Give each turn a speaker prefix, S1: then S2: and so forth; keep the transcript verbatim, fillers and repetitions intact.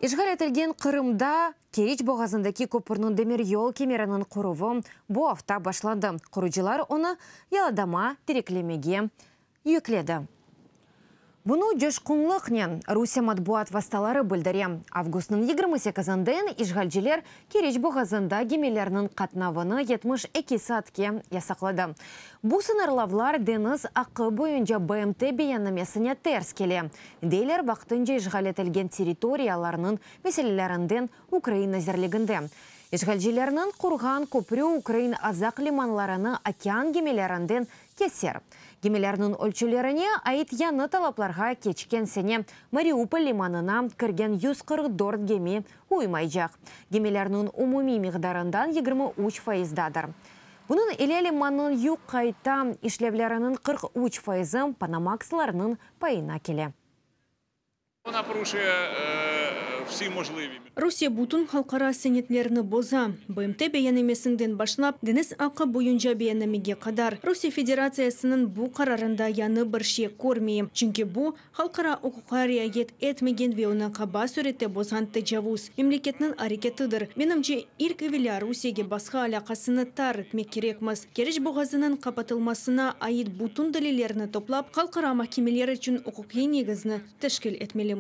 S1: İşğal etilgen Qırımda Keriç boğazındaki köpürniñ demiryol kemeriniñ quruvı bu afta başlandı. Qurucılar onı yalıdama direklemege yükledi. Bunı coşqunlıqnen Rusiye matbuat vastaları bildire. Avgustnıñ yigirmi sekizinden işğalciler Keriç boğazında gemilerniñ qatnavını yetmiş eki saatke yasaqladı. Bu sıñırlavlar deñiz aqqı boyunca B M T beyannamesine ters kele, deyler vaqtınca işğal etilgen territoriyalarnıñ meselelerinden Ukraina nazirliginde. İşğalcilerniñ qurğan köprü ukrain Azaq limanlarını okean gemilerinden keser. Gemilerniñ ölçülerine ait yañı talaplarğa keçken sene Mariupol limanına kirgen yüz qırq dört gemi uymaycaq. Gemilerniñ umumiy miqdarından yigirmi üç fayızdadır. Bunıñ ile limannıñ yük qayta işlevleriniñ qırq üç fayızı Panamaxlarnıñ payına kele.
S2: Вона порушує е, всі можливі
S3: Rusiye bütün halqara senetlerini boza. B M T beyannamesinden başlap, deñiz aqqı boyunca beyannamege qadar. Rusiye Federatsiyasınıñ bu qararında yañı bir şey körmeyim. Çünki bu, halqara uquqqa riayet etmegen ve onı qaba sürette bozğan tecavuz memleketniñ areketidir. Menimce, ilk evelâ Rusiyege basqı alâqasını tar etmek kerekmiz. Keriç boğazınıñ qapatılmasına ait bütün delillerni toplap, halqara mahkemeler içün uquqiy negizni teşkil etmelimiz.